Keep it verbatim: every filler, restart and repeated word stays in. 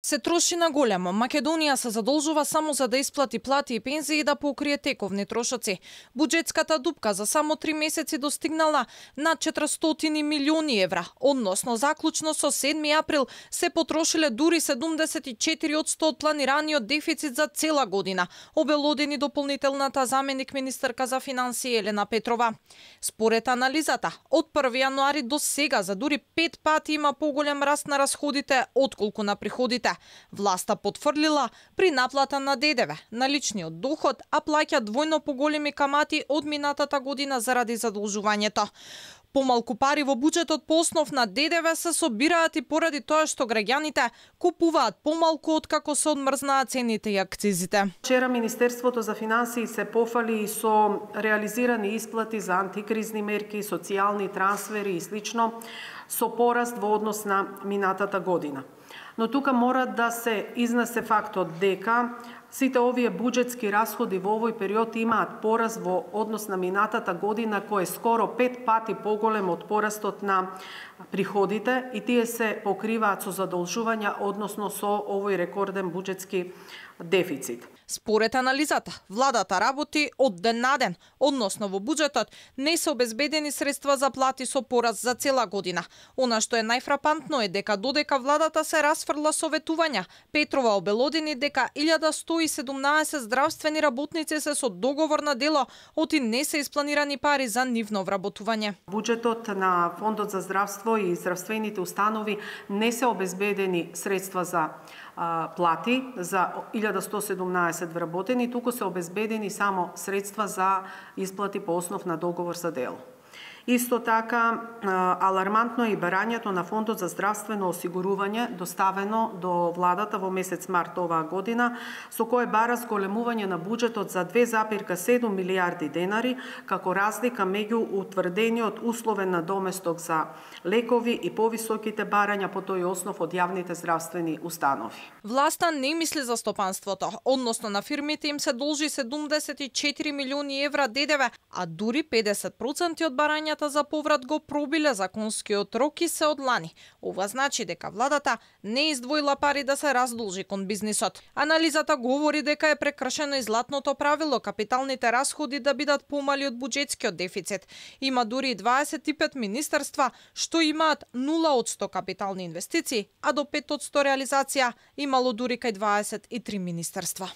Се троши на големо. Македонија се задолжува само за да исплати плати и пензии и да покрие тековни трошоци. Буџетската дупка за само три месеци достигнала над четиристотини милиони евра, односно заклучно со седми април се потрошиле дури седумдесет и четири одсто од планираниот дефицит за цела година, обелодени дополнителната заменик министерка за финансии Елена Петрова. Според анализата, од први јануари до сега за дури пет пати има поголем раст на расходите отколку на приходите. Власта потврлила при наплата на ДДВ на личниот доход, а плаќа двојно поголеми камати од минатата година заради задолжувањето. Помалку пари во буџетот по основ на ДДВ се собираат и поради тоа што граѓаните купуваат помалку откако се одмрзнаат цените и акцизите. Вчера Министерството за финансии се пофали и со реализирани исплати за антикризни мерки, социјални трансфери и слично, со пораст во однос на минатата година. Но тука мора да се изнесе фактот дека сите овие буџетски расходи во овој период имаат пораст во однос на минатата година, кој е скоро пет пати поголем од порастот на приходите, и тие се покриваат со задолжувања, односно со овој рекорден буџетски дефицит. Според анализата, владата работи од ден на ден, односно во буџетот не се обезбедени средства за плати со пораст за цела година. Она што е најфрапантно е дека додека владата се расфрла советувања, Петрова обелодени дека илјада сто и седумнаесет здравствени работници се со договор на дело, оти не се испланирани пари за нивно вработување. Буџетот на Фондот за здравство и здравствените установи не се обезбедени средства за а, плати за илјада сто и седумнаесет вработени, туку се обезбедени само средства за исплати по основ на договор за дело. Исто така, алармантно е и барањето на Фондот за здравствено осигурување, доставено до владата во месец март оваа година, со кое бара зголемување на буџетот за две запирка седум милијарди денари, како разлика меѓу утврдениот условен надоместок за лекови и повисоките барања по тој основ од јавните здравствени установи. Власта не мисли за стопанството, односно на фирмите им се должи седумдесет и четири милиони евра ДДВ, а дури педесет проценти од барањата за поврат го пробиле законскиот рок и се одлани. Ова значи дека владата не издвоила пари да се раздолжи кон бизнисот. Анализата говори дека е прекршено и златното правило капиталните расходи да бидат помали од буџетскиот дефицит. Има дури дваесет и пет министерства што имаат нула одсто капитални инвестиции, а до пет одсто реализација имало дури кај дваесет и три министерства.